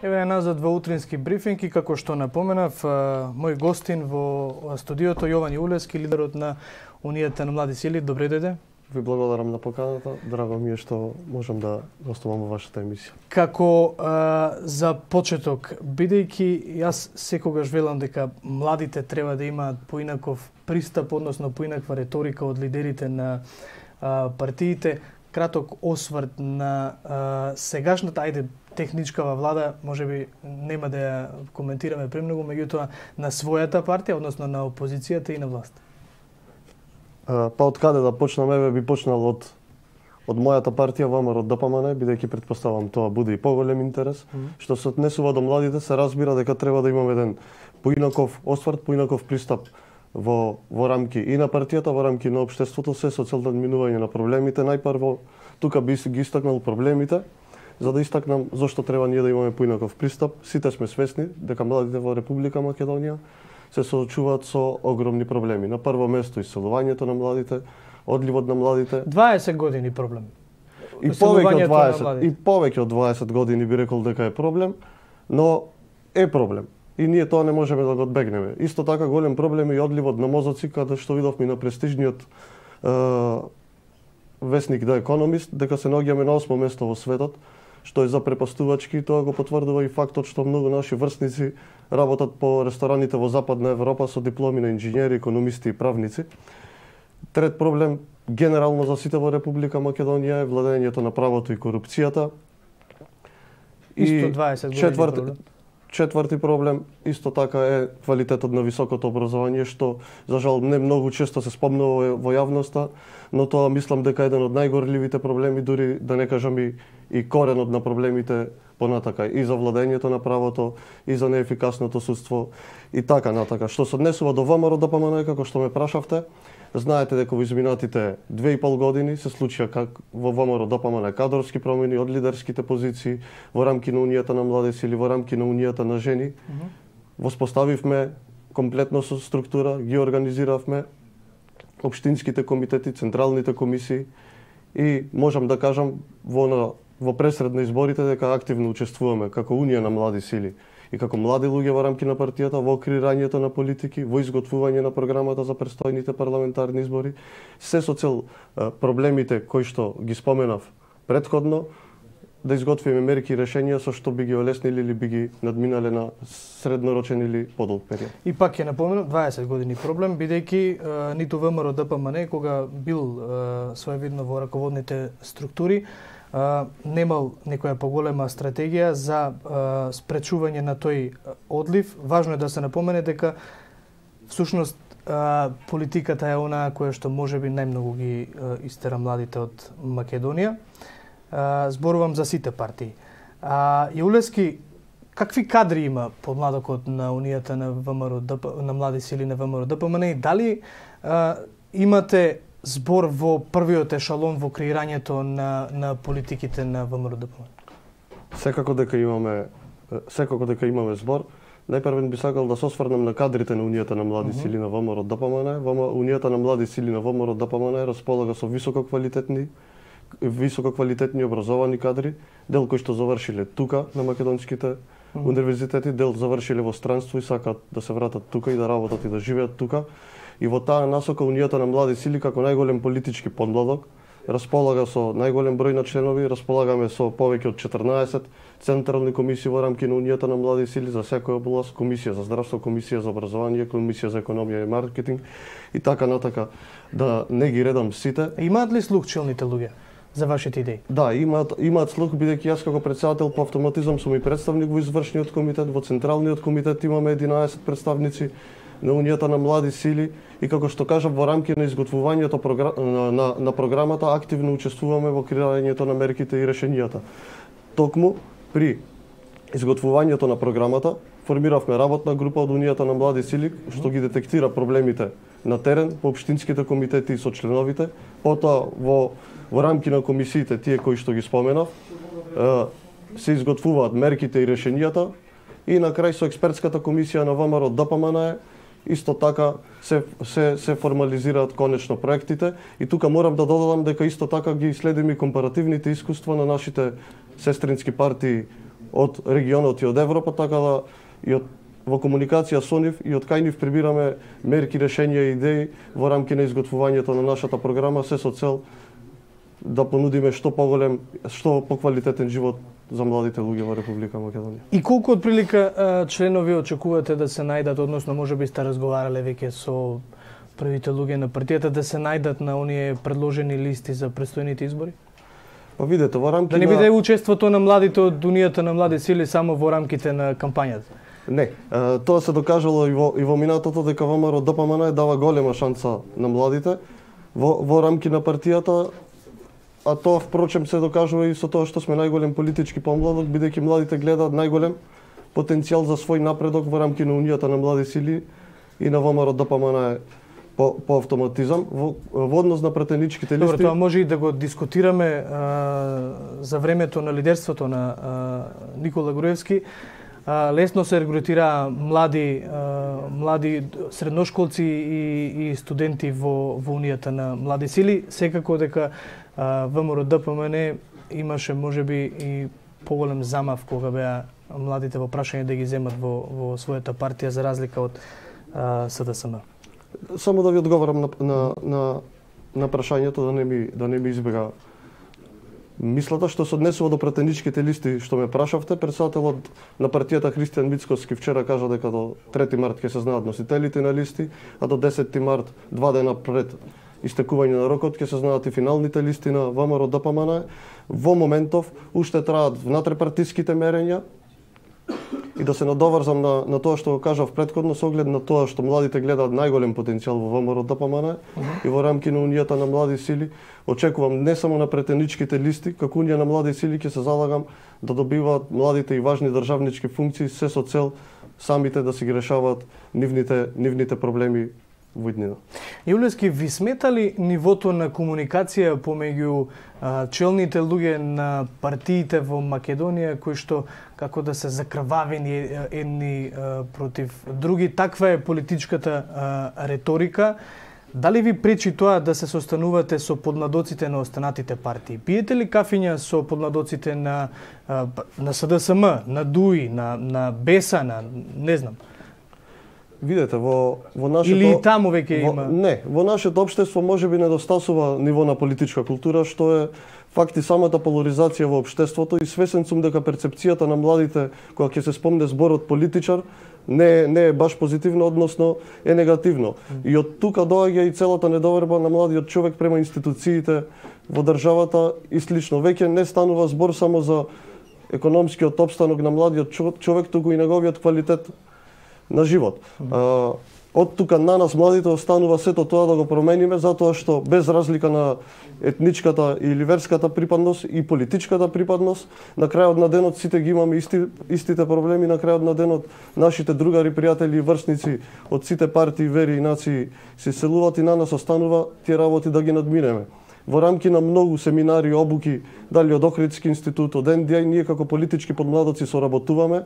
Еве назад во утрински брифинг и како што напоменав, мој гостин во студиото Јован Јулевски, лидерот на Унијата на млади сили. Добре дојде. Ви благодарам на поканата. Драго ми е што можам да гостувам во вашата емисија. Како за почеток, бидејќи јас секогаш велам дека младите треба да имаат поинаков пристап, односно поинаква реторика од лидерите на партиите, краток осврт на сегашната, техничкава влада, можеби нема да ја коментираме премногу, меѓутоа на својата партија, односно на опозицијата и на власт. Па од каде да почнам? Еве би почнал од мојата партија ВМРО ДПМН, бидејќи претпоставам тоа буде и поголем интерес. Што се однесува до младите, се разбира дека треба да имаме еден поинаков осврт, поинаков пристап во рамки и на партијата, во рамки на општеството, се со цел надминување на проблемите. Најпрво тука би ги истакнал проблемите, за да истакнам зошто треба ние да имаме поинаков пристап. Сите сме свесни дека младите во Република Македонија се соочуваат со огромни проблеми. На прво место иселувањето на младите, одливот на младите. 20 години проблем. И повеќе од 20 години би рекол дека е проблем, но е проблем. И ние тоа не можеме да го одбегнеме. Исто така голем проблем е и одливот на мозоци, каде што видовме на престижниот весник The Economist, дека се наоѓаме на 8 место во светот, што е запрепастувачки. Тоа го потврдува и фактот што многу наши врсници работат по рестораните во Западна Европа со дипломи на инженери, економисти и правници. Трет проблем генерално за сите во Република Македонија е владењето на правото и корупцијата. Исто 20 години. Четврти проблем исто така е квалитетот на високото образование, што за жал не многу често се спомнува во јавноста, но тоа мислам дека е еден од најгорливите проблеми, дури да не кажам и коренот на проблемите понатака, и за владењето на правото, и за неефикасното судство, и така натака. Што се однесува до ВМРО ДПМН, како што ме прашавте, знаете дека во изминатите 2,5 години се случија во ВМРО ДПМН кадрски промени од лидерските позиции во рамки на Унијата на млади сили, во рамки на Унијата на жени. Воспоставивме комплетно со структура, ги организиравме општинските комитети, централните комисии и можам да кажам во пресред на изборите дека активно учествуваме како Унија на млади сили и како млади луѓе во рамки на партијата во креирањето на политики, во изготвување на програмата за престојните парламентарни избори, се со цел проблемите кои што ги споменав претходно, да изготвиме мерки и решенија со што би ги олеснили или би ги надминале на среднорочен или подолг период. И пак ќе напоменам 20 години проблем, бидејќи ниту ВМРО ДПМН кога бил своевидно во раководните структури, немал некоја поголема стратегија за спречување на тој одлив. Важно е да се напомене дека всушност политиката е онаа која што можеби најмногу ги истера младите од Македонија. Зборувам за сите партии. Јулевски, какви кадри има подмладокот на Унијата на ВМРО на млади сили на ВМРО ДПМН и дали имате збор во првиот ешалон во креирањето на политиките на ВМРО ДПМН? Секако дека имаме збор. Најпрвен би сакал да се осврнам на кадрите на Унијата на млади сили на ВМРО ДПМН. Унијата на млади сили на ВМРО ДПМН располага со висококвалитетни образовани кадри, дел кои што завршиле тука на македонските универзитети, дел завршиле во странство и сакаат да се вратат тука и да работат и да живеат тука. И во таа насока Унијата на млади сили како најголем политички подмладок располага со најголем број на членови, располагаме со повеќе од 14 централни комисии во рамки на Унијата на млади сили за секоја област, комисија за здравство, комисија за образование, комисија за економија и маркетинг и така натака, да не ги редам сите. Имаат ли слух челните луѓе за вашите идеи? Да, имаат слух, бидејќи јас како претседател по автоматизам сум и представник во извршниот комитет, во централниот комитет имаме 11 представници на Унијата на млади сили и како што кажав во рамки на изготвувањето на програмата активно учествуваме во креирањето на мерките и решенијата. Токму при изготвувањето на програмата формиравме работна група од Унијата на млади сили што ги детектира проблемите на терен по општинските комитети и со членовите, потоа во рамки на комисиите тие кои што ги споменав се изготвуваат мерките и решенијата и на крај со експертската комисија на ВМРО ДПМН исто така се формализираат конечно проектите и тука морам да додадам дека исто така ги следиме компаративните искуства на нашите сестрински партии од регионот и од Европа, така да и во комуникација со нив и од кај нив прибираме мерки, решенија и идеи во рамки на изготвувањето на нашата програма, се со цел да понудиме што поголем, што поквалитетен живот за младите луѓе во Република Македонија. И колку отприлика членови очекувате да се најдат, односно можеби сте разговарале веќе со првите луѓе на партијата да се најдат на оние предложени листи за престојните избори? Па видете, во рамки да не биде учеството на младите од Унијата на млади сили само во рамките на кампањата? Не, тоа се докажало и во минатото дека ВМРО ДПМН дава голема шанса на младите во рамки на партијата, а тоа впрочем се докажува и со тоа што сме најголем политички помладок, бидејќи младите гледаат најголем потенцијал за свој напредок во рамки на Унијата на млади сили и на ВМРО ДПМН по автоматизам во однос на претеничките листи. Добро, тоа може и да го дискутираме за времето на лидерството на Никола Груевски. Лесно се регрутира млади средношколци и студенти во Унијата на млади сили. Секако дека ВМРО ДПМН имаше можеби и поголем замав кога беа младите во прашање да ги земат во својата партија за разлика од СДСМ. Само да ви одговорам на прашањето да не ми избега мислата што се однесува до претеничките листи што ме прашавте. Претседателот на партијата Христијан Мицкоски вчера кажа дека до 3 март ќе се знаат носителите на листи, а до 10 март, 2 дена пред истекување на рокот, ќе се знаат и финалните листи на ВМРО ДПМН. Во моментов уште траат внатрепартиските мерења. И да се надоврзам на тоа што го кажав претходно, со оглед на тоа што младите гледаат најголем потенцијал во ВМРО ДПМН и во рамки на Унијата на млади сили, очекувам не само на претеничките листи, како Унија на млади сили ќе се залагам да добиваат младите и важни државнички функции, се со цел самите да си ги решаваат нивните проблеми во иднина. Јулевски, ви смета ли нивото на комуникација помеѓу челните луѓе на партиите во Македонија, кои што како да се закрвавени едни против други? Таква е политичката реторика. Дали ви пречи тоа да се состанувате со подмладоците на останатите партии? Пиете ли кафиња со подмладоците на СДСМ, на ДУИ, на БЕСА, на не знам? Видете, во нашето... Или таму веќе има? Не, во нашето општество можеби недостасува ниво на политичка култура, што е факт и самата поларизација во општеството, и свесен сум дека перцепцијата на младите кога ќе се спомне зборот политичар не е баш позитивно, односно е негативно. И од тука доаѓа и целата недоверба на младиот човек према институциите во државата и слично. Веќе не станува збор само за економскиот опстанок на младиот човек, туку и неговиот квалитет на живот. Од тука на нас младите останува сето тоа да го промениме, затоа што без разлика на етничката или верската припадност и политичката припадност, на крајот на денот сите ги имаме истите проблеми, на крајот на денот нашите другари, пријатели и врсници од сите партии, вери и нации се селуваат и на нас останува тие работи да ги надминеме. Во рамки на многу семинари, обуки, дали од Охридски институт, од НДИ, ние како политички подмладоци соработуваме.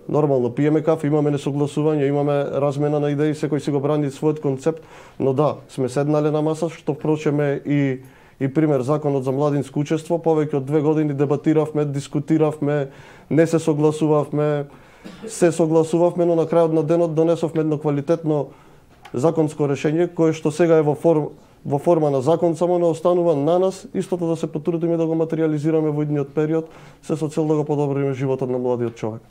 Нормално пиеме кафе, имаме несогласување, имаме размена на идеи, секој си го брани својот концепт, но да, сме седнале на маса, што впрочем е и пример законот за младинско учество. Повеќе од 2 години дебатиравме, дискутиравме, не се согласувавме, но на крајот на денот донесовме едно квалитетно законско решение, кое што сега е во форма на закон, само не останува на нас истото да се потрудиме да го материализираме во идниот период, се со цел да го подобриме животот на младиот човек.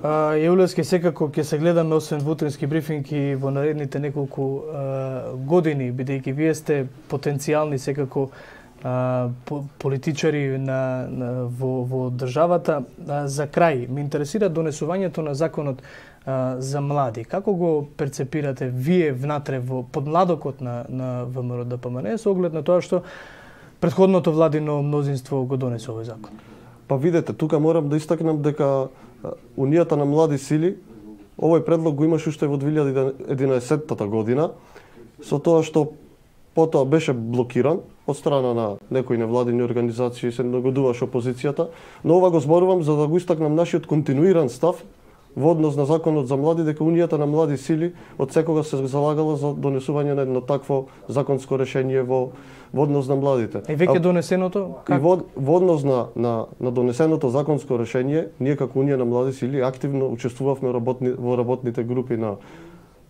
Јулевски, секако ќе се гледаме освен вутрински брифинги во наредните неколку години, бидејќи вие сте потенцијални секако политичари во државата. За крај, ме интересира донесувањето на законот за млади. Како го перцепирате вие внатре во подмладокот на ВМРО ДПМН со оглед на тоа што претходното владино мнозинство го донесе овој закон? Па видете, тука морам да истакнам дека Унијата на млади сили овој предлог го имаше уште во 2011 година, со тоа што потоа беше блокиран од страна на некои невладини организации, се нагодуваше опозицијата, но ова го зборувам за да го истакнам нашиот континуиран став во однос на законот за млади дека Унијата на млади сили од секога се залагала за донесување на едно такво законско решение во однос на младите. И веќе донесеното? И во однос на донесеното законско решение, ние како Унија на млади сили активно учествувавме во работните групи на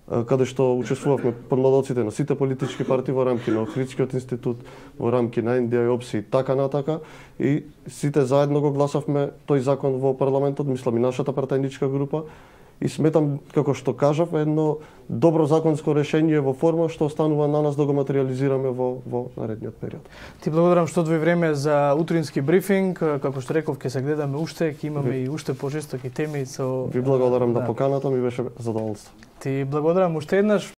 каде што учествувавме подмладоците на сите политички партии во рамки на Охридскиот институт, во рамки на НДИ и така натака, и сите заедно го гласавме тој закон во парламентот, мислам и нашата партајничка група, и сметам, како што кажав, едно добро законско решение во форма што останува на нас да го материализираме во наредниот период. Ти благодарам што одвои време за утрински брифинг, како што реков ќе се гледаме уште, ќе имаме и уште пожестоки теми со... Ви благодарам на поканата, ми беше задоволство. Ти благодарам уште еднаш.